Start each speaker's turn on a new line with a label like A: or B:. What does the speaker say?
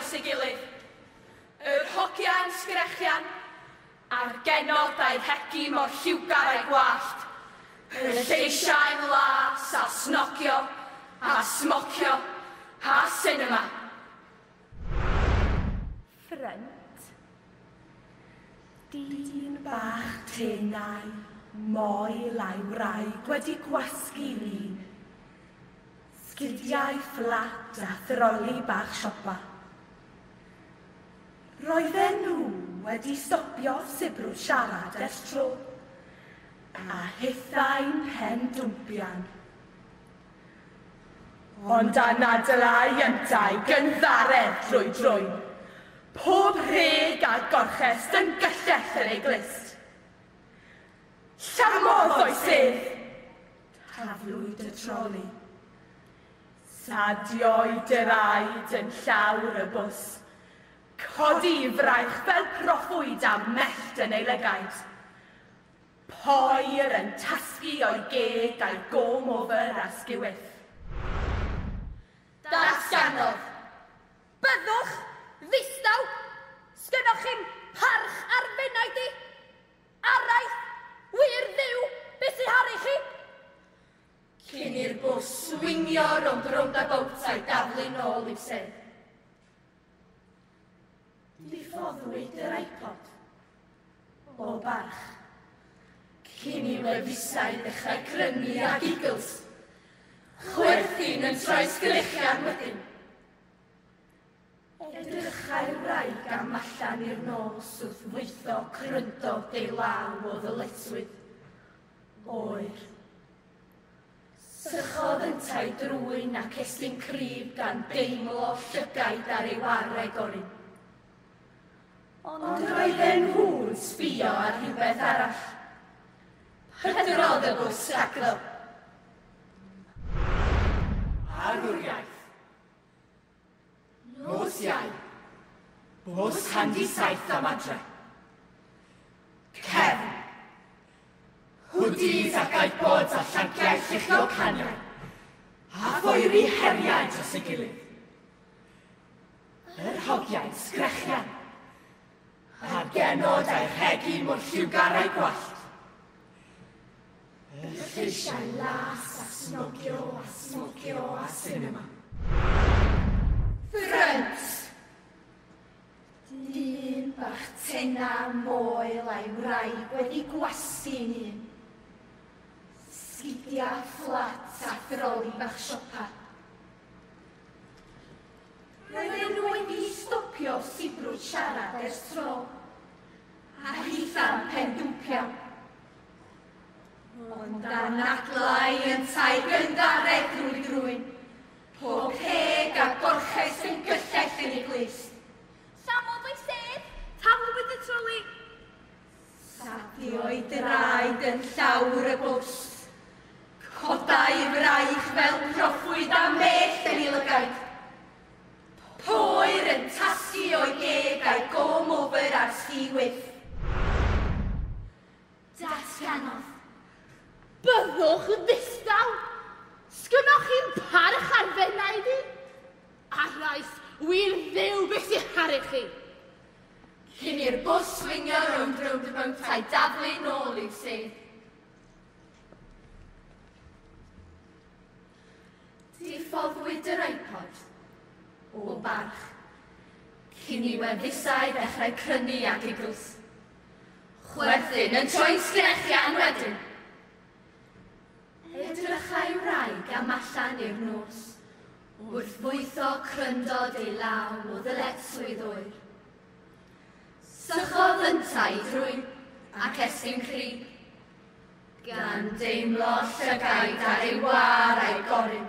A: dros ei gilydd. Yr hogia'n sgrechian, a'r genod a'i rhegi mor lliwgar a'i gwallt. Y lleisiau'n las a snogio, a smocio, a sinema.
B: Ffrynt. Dyn bach tenau, moel a'i wraig wedi gwasgu lun. Sgidiau fflat a throli bach siopa. Roedden nhw wedi stopio sibrwd siarad ers tro, a hithau'n pen dwmpian. Ond anadlai yntau gynddaredd drwy drwyn, pob rheg a gorchest yn gyllell yn ei glust. Llamodd o'i sedd! Taflwyd y troli. Sadio'i draed yn llawr y bws. Codi fraich fel proffwyd a mellt yn ei lygaid. Poer yn tasgu o'i geg a'i gom over a sgiwyth.
A: Datganodd. Byddwch ddistaw! Sgynnoch chi'm parch ar f'enaid i? Araith! Wir Dduw, be sy haru chi? Cyn i'r bws swingio rownd roundabout a'i daflu nôl i'w sedd.
B: Diffoddwyd yr iPod. O barch.
A: Cyn i wefusau ddechrau crynu a giggles. Chwerthin yn troi sgrechian wedyn.
B: Edrychai'r wraig am allan i'r nos wrth fwytho cryndod ei law o ddyletswydd. Oer.
A: Sychodd yntau drwyn ac estyn cryf gan deimlo llygaid ar ei wareg orin. Ond roedden nhw'n sbio ar rhywbeth arall. Pydrodd y bws rhagddo.
C: Arwriaeth. Nos Iau. Bws handi saith am adre. Cefn. Hoodies ac iPods a llanciau lluchio caniau. A phoeri heriau dros ei gilydd. Yr hogiau'n sgrechian. A'r genod a'i rhegi mor lliwgar a'i gwallt. Y lleisiau las a snogio a smocio a sinema.
A: Ffrynt! Dyn bach tena moel a'i wraig wedi gwasgu'n un. Sgidia fflat a throli bach siopa. Roedden nhw wedi stopio sibrwd siarad ers tro, a hitha'n pen dwmpian. Ond anadlai yntau gynddaredd drwy drwyn, pob rheg a gorches yn gyllell yn ei glust.
D: Llamodd o'i sedd, taflwyd y troli.
A: Sadio'i draed yn llawr y bws. Codai fraich fel proffwyd a mellt yn ei lygaid. Poer yn tasgu o'i geg a'i gom over ar sgiwyth.
D: Datganodd. Byddwch ddistaw! Sgynnoch chi'm parch ar f'enaid i? Araith, wir Dduw, be sy haru chi?
A: Cyn i'r bws swingio rownd roundabout a'i daflu nôl i'w sedd. Diffoddwyd yr iPod. O barch. Cyn i wefusau ddechrau crynu a giggles. Chwerthin yn troi'n sgrechian wedyn. Edrychai wraig am allan i'r nos, wrth fwytho cryndod ei law o ddyletswydd oer. Sychodd yntau drwyn ac estyn crib, gan deimlo llygaid ar ei war a'i gorun.